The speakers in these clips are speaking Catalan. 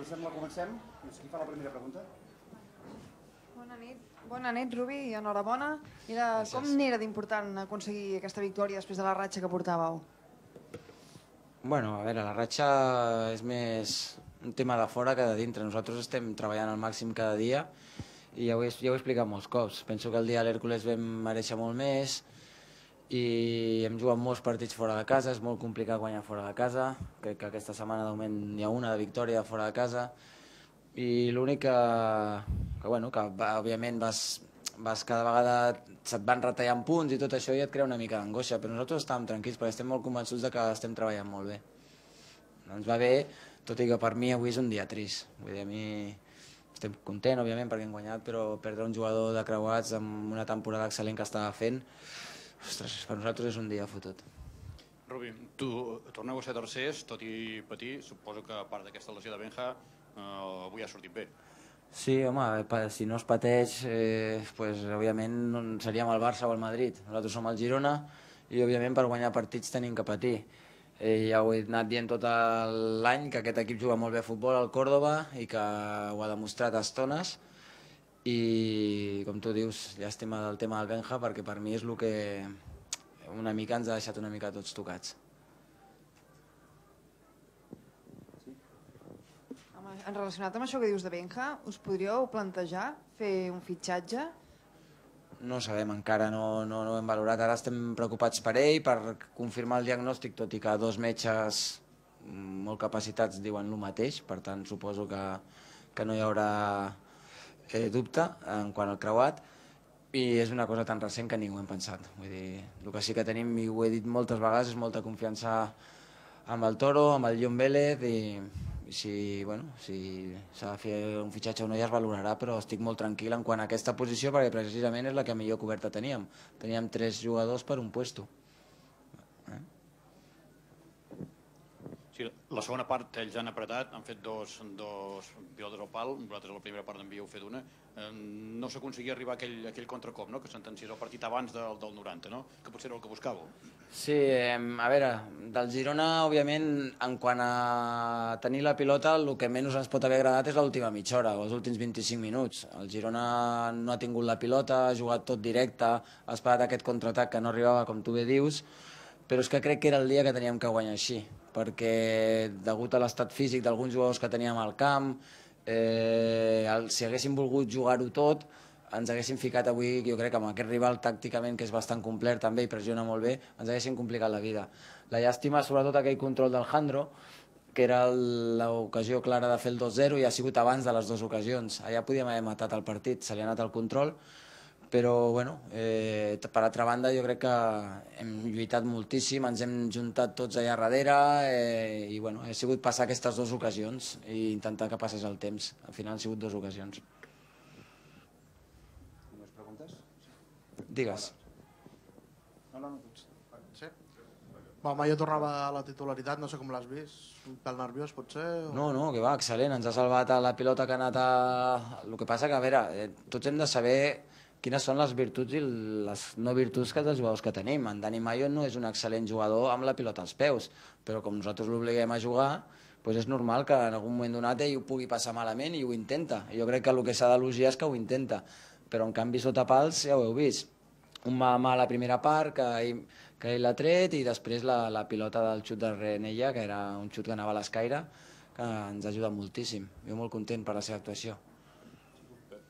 us sembla, comencem. Qui fa la primera pregunta? Bona nit, Rubi, i enhorabona. Com n'era d'important aconseguir aquesta victòria després de la ratxa que portàveu? Bueno, a veure, la ratxa és més un tema de fora que de dintre. Nosaltres estem treballant al màxim cada dia i ja ho he explicat molts cops. Penso que el dia de l'Hèrcules vam mereixer molt més i hem jugat molts partits fora de casa, és molt complicat guanyar fora de casa. Crec que aquesta setmana de moment n'hi ha una de victòria fora de casa i l'únic que òbviament vas cada vegada se't van retallant punts i tot això i et crea una mica d'angoixa, però nosaltres estàvem tranquils perquè estem molt convençuts de que estem treballant molt bé. Ens va bé, tot i que per mi avui és un dia trist. Vull dir, a mi estem content, òbviament, perquè hem guanyat, però perdre un jugador de creuats amb una temporada excel·lent que estava fent, ostres, per nosaltres és un dia fotut. Rubi, torneu a ser tercers, tot i patir, suposo que a part d'aquesta lesió de Benja, avui ha sortit bé. Sí, home, si no es pateix, òbviament seríem el Barça o el Madrid. Nosaltres som el Girona i, òbviament, per guanyar partits tenim que patir. Ja ho he anat dient tot l'any, que aquest equip juga molt bé a futbol al Córdoba i que ho ha demostrat a estones. I, com tu dius, llàstima del tema del Benja, perquè per mi és el que una mica ens ha deixat una mica tots tocats. En relacionat amb això que dius de Benja, us podríeu plantejar fer un fitxatge? No sabem encara, no ho hem valorat. Ara estem preocupats per ell, per confirmar el diagnòstic, tot i que dos metges molt capacitats diuen el mateix, per tant suposo que no hi haurà dubte en quant al creuat, i és una cosa tan recent que ni ho hem pensat. Vull dir, el que sí que tenim, i ho he dit moltes vegades, és molta confiança amb el Toro, amb el John Vélez, i si s'ha de fer un fitxatge o no ja es valorarà, però estic molt tranquil en quant a aquesta posició perquè precisament és la que millor coberta teníem. Teníem 3 jugadors per un puesto. Sí, la segona part ells han apretat, han fet dos pilotes al pal, vosaltres a la primera part n'havíeu fet una. No s'aconseguia arribar a aquell contracop, que sentenciés el partit abans del 90, que potser era el que buscàveu. Sí, a veure, del Girona, òbviament, en quant a tenir la pilota, el que menys ens pot haver agradat és l'última mitja hora, els últims 25 minuts. El Girona no ha tingut la pilota, ha jugat tot directe, ha esperat aquest contraatac que no arribava, com tu bé dius, però és que crec que era el dia que teníem que guanyar així, perquè degut a l'estat físic d'alguns jugadors que teníem al camp, si haguéssim volgut jugar-ho tot, ens haguéssim ficat avui, jo crec, amb aquest rival tàcticament, que és bastant complet també i pressiona molt bé, ens haguéssim complicat la vida. La llàstima, sobretot aquell control del Jandro, que era l'ocasió clara de fer el 2-0 i ha sigut abans de les dues ocasions. Allà podíem haver matat el partit, se li ha anat el control, però, bueno, per altra banda, jo crec que hem lluitat moltíssim, ens hem juntat tots allà darrere i, bueno, ha sigut passar aquestes dues ocasions i intentar que passés el temps. Al final han sigut dues ocasions. Digues. Sí? Mayo tornava a la titularitat, no sé com l'has vist, un pèl nerviós potser? No, que va, excel·lent, ens ha salvat la pilota que ha anat a... El que passa que, a veure, tots hem de saber quines són les virtuts i les no virtuts dels jugadors que tenim. En Dani Mayo no és un excel·lent jugador amb la pilota als peus, però com nosaltres l'obliguem a jugar, doncs és normal que en algun moment donat ell ho pugui passar malament i ho intenta. Jo crec que el que s'ha d'elogiar és que ho intenta, però en canvi sota pals ja ho heu vist. Un mà a mà a la primera part, que ell l'ha tret, i després la pilota del xut de Renella, que era un xut que anava a l'escaire, que ens ajuda moltíssim. Jo molt content per la seva actuació.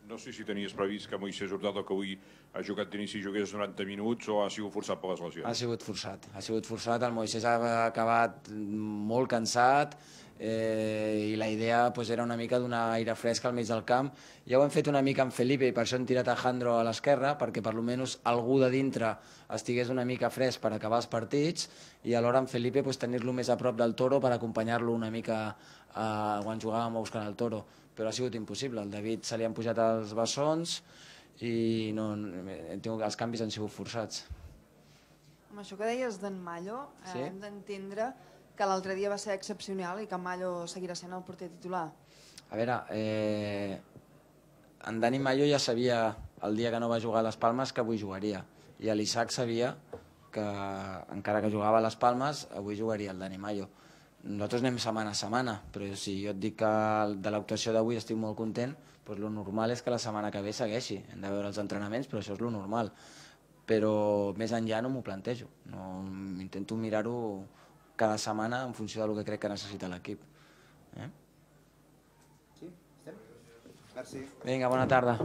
No sé si tenies previst que Moisés Hurtado, que avui ha jugat d'inici, jugués 90 minuts o ha sigut forçat per les lesions? Ha sigut forçat. El Moisés ha acabat molt cansat i la idea era una mica donar aire fresc al mig del camp. Ja ho hem fet una mica amb Felipe i per això hem tirat a Jandro a l'esquerra, perquè per almenys algú de dintre estigués una mica fresc per acabar els partits i alhora amb Felipe tenir-lo més a prop del Toro per acompanyar-lo una mica quan jugàvem a buscar el Toro. Però ha sigut impossible. El David se li han pujat els bessons i els canvis han sigut forçats. Amb això que deies d'en Mallo, hem d'entendre que l'altre dia va ser excepcional i que en Mallo seguirà sent el porter titular. A veure, en Dani Mallo ja sabia el dia que no va jugar a les Palmes que avui jugaria, i l'Isaac sabia que encara que jugava a les Palmes avui jugaria el Dani Mallo. Nosaltres anem setmana a setmana, però si jo et dic que de l'actuació d'avui estic molt content, doncs el normal és que la setmana que ve segueixi. Hem de veure els entrenaments, però això és el normal. Però més enllà no m'ho plantejo. Intento mirar-ho cada setmana en funció del que crec que necessita l'equip. Sí? Estem? Merci. Vinga, bona tarda.